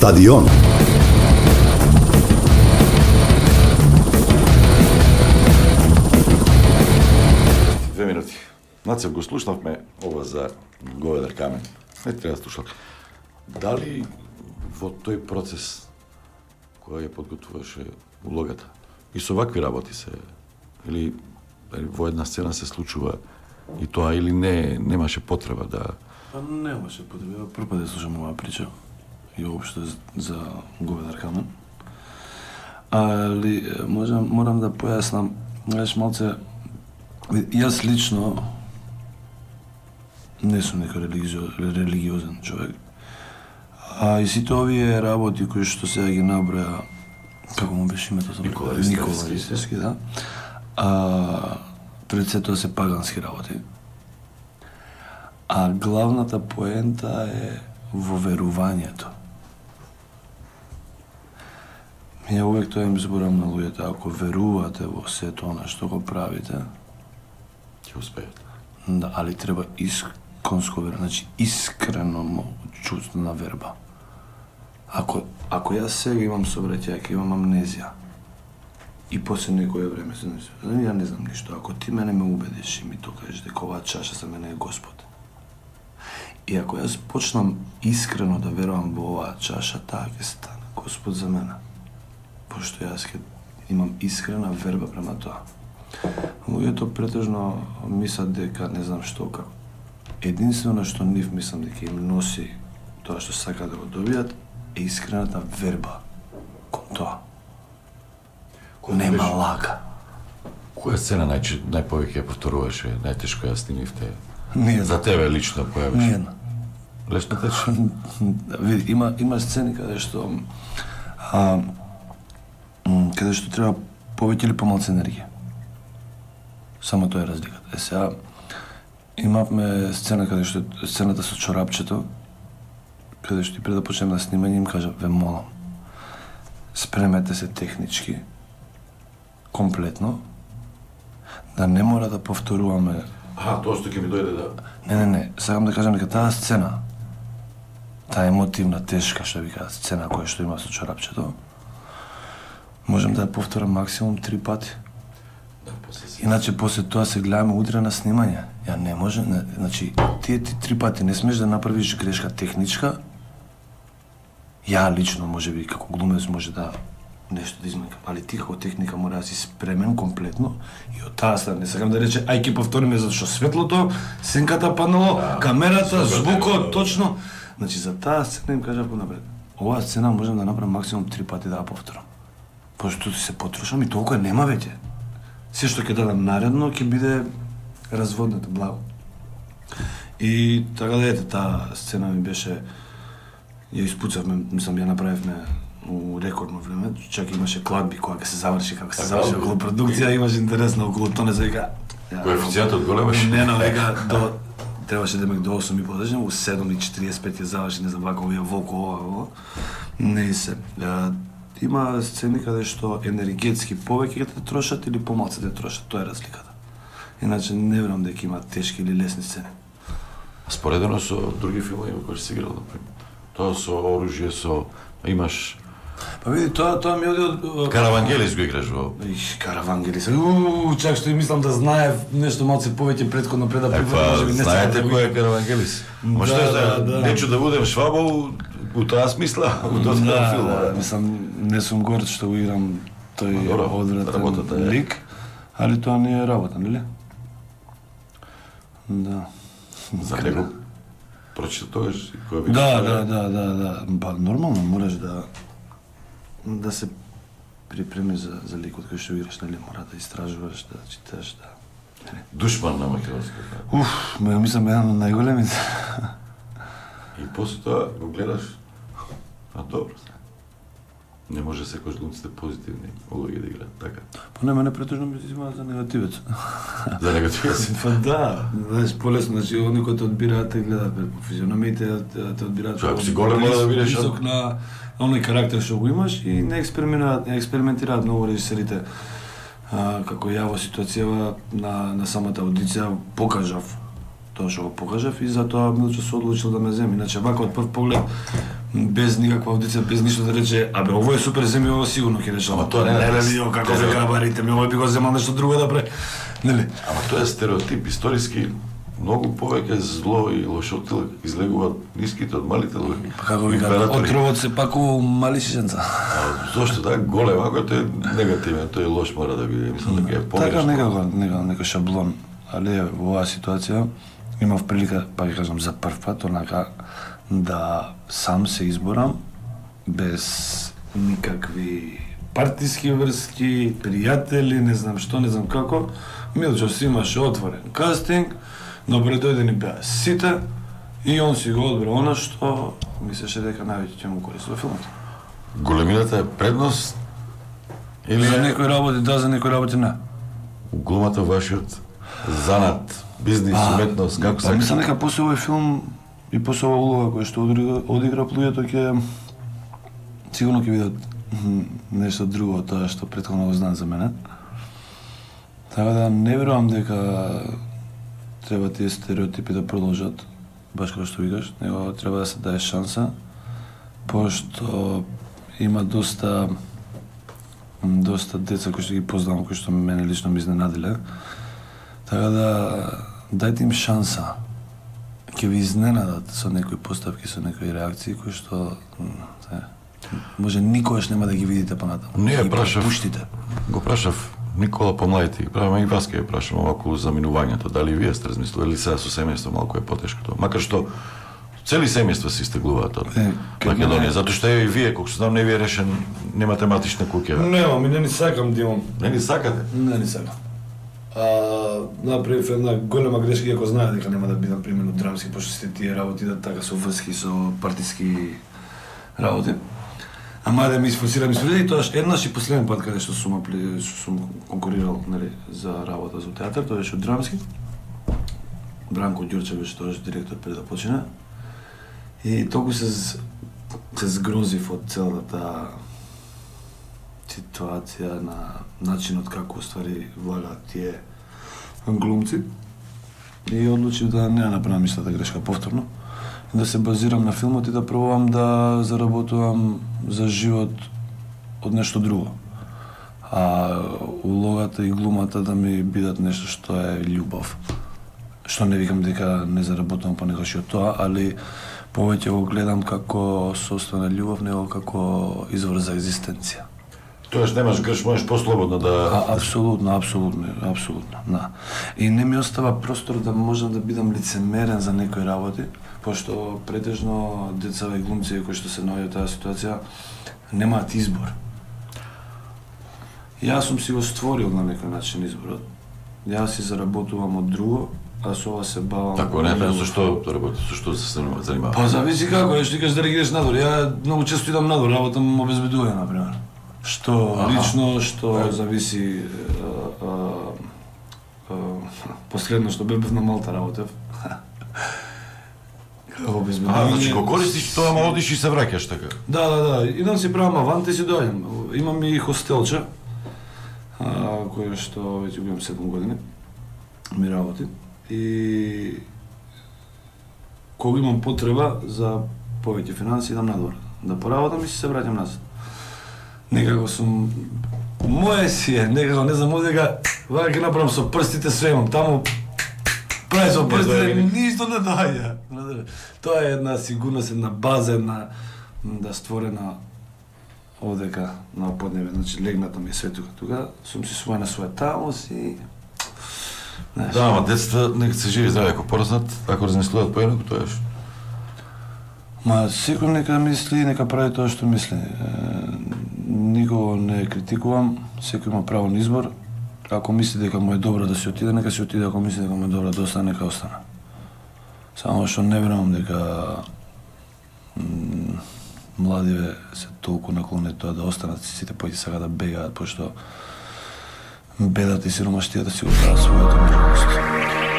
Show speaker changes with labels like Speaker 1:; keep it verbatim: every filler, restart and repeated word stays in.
Speaker 1: Стадион.
Speaker 2: Две минути. Нацев го слушнавме ова за Говедар камен. Не треба да слушам. Дали во тој процес кој ја подготвуваше улогата и со вакви работи се или во една сцена се случува и тоа или не немаше потреба да
Speaker 3: Па немаше потреба. Прв пат да слушам оваа прича и уопшто за Говедар камен. Али можам морам да појаснам, знаеш малце јас лично не сум нека религиозен човек. А и сите овие работи кои што сега ги наброја, како му беше името за
Speaker 2: Никола
Speaker 3: Ристевски, да. А пред се тоа се пагански работи. А главната поента е во верувањето. Ја увек тоа им зборам на луѓето, ако верувате во сето она што го правите,
Speaker 2: ќе успеат.
Speaker 3: да, али треба исконско верба, значи искрено чувство на верба. Ако ако јас сега имам собраќајка, имам амнезија и после некое време се не ја не знам ништо, ако ти мене ме убедиш и ми тоа кажеш дека оваа чаша за мене е Господ. И ако јас почнам искрено да верувам во оваа чаша, таа ќе стане Господ за мене. Пошто јас ќе имам искрена верба према тоа. Луѓето претежно мислат дека не знам што како. Единствено што нив мислам дека им носи тоа што сакаат да го добијат е искрената верба кон тоа. Нема лага.
Speaker 2: Која сцена нај најповеќе ја повторуваше, најтешко ја снимивте?
Speaker 3: Ниједна.
Speaker 2: За тебе лично појавиш?
Speaker 3: Ниједна.
Speaker 2: Лесно тече?
Speaker 3: Види, има има сцени каде што а, м, каде што треба повеќе или помалку енергија. Само тоа е разликата. Е сега имавме сцена каде што сцената со чорапчето, каде што и пред да почнеме на снимање им кажа, ве молам, спремете се технички, комплетно, да не мора да повторуваме.
Speaker 2: Аха, тоа што ќе ми дојде да...
Speaker 3: Не, не, не, сакам да кажам дека таа сцена, таа емотивна, тешка, што ви кажа, сцена која што има со чорапчето, можем да ја повторам максимум три пати.
Speaker 2: Да, после се...
Speaker 3: Иначе после тоа се гледаме утре на снимање. Ја не може, не, значи тие ти три пати не смеш да направиш грешка техничка. Ја лично можеби како глумец може да нешто да измекам, али ти како техника мора да си спремен комплетно и од таа страна не сакам да рече ај ќе повториме затоа што светлото, сенката паднало, да, камерата, звукот, точно. Значи за таа сцена им кажав понапред. Оваа сцена можам да направам максимум три пати да ја повторам. Пошто се потрошам и толку нема веќе. Се што ќе дадам наредно ќе биде разводнето благо. И така да ете, таа сцена ми беше, ја испуцавме, мислам ја направивме у рекордно време, чак имаше кладби кога ќе се заврши, како се заврши околу продукција, имаше интересно околу тоа, не се вика.
Speaker 2: Коефицијентот големаш?
Speaker 3: Не, но века до требаше демек до осум и по дождем, у седум и четириесет и пет ја заврши, не знам вака овие волко ова, ова. Не се. Има сцени каде што енергетски повеќе ќе те трошат или помалку те трошат, тоа е разликата. Иначе не верувам дека има тешки или лесни сцени.
Speaker 2: Споредено со други филми во кои си играл, например. Тоа со оружје, со имаш
Speaker 3: Па види, тоа тоа ми оди од
Speaker 2: Каравангелис го играш во.
Speaker 3: Их, Каравангелис. Уу, чак што и мислам да знае нешто малце повеќе претходно пред да
Speaker 2: Па, знаете кој е Каравангелис? Ма што е, нечу да будем швабол у таа смисла, у тоа филм.
Speaker 3: Да, мислам, не сум горд што го играм тој одвратен лик, али тоа не е работа, нели? Да.
Speaker 2: За него прочита тогаш кој би...
Speaker 3: Да, да, да, да, да. Па нормално мораш да да се припремиш за за ликот кој што играш, нели? Мора да истражуваш, да читаш, да.
Speaker 2: Душман на македонската.
Speaker 3: Уф, ме мислам еден од најголемите.
Speaker 2: И после тоа го гледаш, а добро. Не може секој глумците позитивни улоги да играат, така.
Speaker 3: Па не, мене претежно ми се измаат за негативец.
Speaker 2: За негативец?
Speaker 3: Па да, знаеш, полесно, значи, они кои те одбираат, те гледаат по физиономиите, те одбираат...
Speaker 2: Ако си голем, мора да видиш...
Speaker 3: Висок на оној карактер што го имаш и не експериментираат, не експериментираат многу режисерите. А, како ја во ситуацијава на, на самата аудиција покажав тоа што го покажав и затоа Милчо се одлучил да ме земи. Иначе вака од прв поглед без никаква аудиција, без ништо да рече, абе ово е супер, земи ово сигурно ќе рече.
Speaker 2: Ама тоа не е.
Speaker 3: Леле, видео како се габарите, ми ово би го земал нешто друго да пре. Нели?
Speaker 2: Ама тоа е стереотип историски. Многу повеќе зло и лошотил излегуваат ниските од малите луѓе.
Speaker 3: Па како ви кажат, отровот се пакува мали шишенца.
Speaker 2: Зошто да голем, ако тој е негативен, тој е лош мора да биде, мислам дека е погрешно.
Speaker 3: Така некако, некако, некој шаблон, али во оваа ситуација имав прилика, па ви кажам, за прв пат, онака, да сам се изборам, без никакви партиски врски, пријатели, не знам што, не знам како. Милчо си имаше отворен кастинг, но пред дојде ни беа сите и он си го одбра она што мислеше дека највеќе ќе му користи во филмот.
Speaker 2: Големината е предност или
Speaker 3: За некои работи да, за некои работи не.
Speaker 2: глумата вашиот занат, бизнис, уметност, како
Speaker 3: Па
Speaker 2: се?
Speaker 3: мислам дека после овој филм и после оваа улога која што одигра, одигра луѓето ќе сигурно ќе видат нешто друго од тоа што претходно го знаат за мене. Така да не верувам дека треба тие стереотипи да продолжат, баш како што викаш, него треба да се даде шанса, пошто има доста доста деца кои што ги познавам, кои што мене лично ми изненадиле. Така да дајте им шанса. Ќе ви изненадат со некои поставки, со некои реакции кои што е, може никогаш нема да ги видите понатаму.
Speaker 2: Не,
Speaker 3: Ги
Speaker 2: прашав.
Speaker 3: пропуштите.
Speaker 2: Го прашав Никола помладите, правиме и вас ќе ја прашам околу заминувањето, дали вие сте размислували сега со семејство малку е потешко тоа. Макар што цели семејства се истеглуваат од
Speaker 3: Е,
Speaker 2: Македонија,
Speaker 3: не-
Speaker 2: затоа што е и вие, колку знам, не ви е решен, немате матична куќа.
Speaker 3: Немам и не ни сакам да имам.
Speaker 2: Не ни сакате?
Speaker 3: Не ни сакам. А, направив една голема грешка, иако знае дека нема да бидам примерно драмски, пошто сите тие работи да така со врски, со партиски работи. Ама да ми изфорсирам, изфорсирам и тоаш еднаш и последен пат каде што сум, апли- што сум конкурирал, нели, за работа за театар, тоа беше од драмски. Бранко Ѓурче беше тоаш директор пред да почне. И толку се з- се згрозив од целата таа ситуација на начинот како уствари влагаат тие глумци. И одлучив да не ја направам истата грешка повторно. И да се базирам на филмот и да пробувам да заработувам за живот од нешто друго. А улогата и глумата да ми бидат нешто што е љубов. Што не викам дека не заработувам понекогаш и од тоа, али повеќе го гледам како состојна љубов, него како извор за екзистенција.
Speaker 2: Тоаш немаш греш, можеш послободно да...
Speaker 3: А, апсолутно, апсолутно, апсолутно, да. И не ми остава простор да можам да бидам лицемерен за некои работи, пошто претежно децава и глумци кои што се наоѓаат таа ситуација немаат избор. Јас сум си го створил на некој начин изборот. Јас си заработувам од друго, а со ова се бавам.
Speaker 2: Тако не, не, зашто работи, зашто се занимава? занимава?
Speaker 3: Па зависи како, е, што ти кажеш да реагираш надвор. Ја многу често идам надвор, работам обезбедување, например. Што
Speaker 2: Аха.
Speaker 3: лично, што
Speaker 2: Е.
Speaker 3: зависи а, а, а, последно што бев на Малта работев. Како
Speaker 2: А,
Speaker 3: обезбедување.
Speaker 2: значи го користиш тоа, ама одиш и се враќаш така.
Speaker 3: Да, да, да. Идам си правам авант и си доаѓам. Имам и хостелче, а, кој што веќе го имам седум години, ми работи. И кога имам потреба за повеќе финанси, идам надвор. Да поработам и си се враќам назад. Некако сум... Моje си е, некако, не знам, дека вака ќе направам со прстите, све имам. Таму прави со прстите,
Speaker 2: доаѓа.
Speaker 3: ништо не доаѓа. Тоа е една сигурност, една база, една да створена овдека на поднебе, значи легната ми е све тука. Тука сум си своја на своја тамос и... Знаеш,
Speaker 2: Да, ама децата нека се живи здрави, ако пораснат, ако размислуваат поеднакво, тоа е што.
Speaker 3: Ма секој нека мисли, нека прави тоа што мисли. Е, никого не критикувам, секој има право на избор. Ако мисли дека му е добро да се отиде, нека се отиде, ако мисли дека му е добро да остане, нека остане. Само што не верувам дека м, младиве се толку наклонети тоа да останат, сите појди сега да бегаат, пошто бедата и сиромаштијата си го прават својата мирност.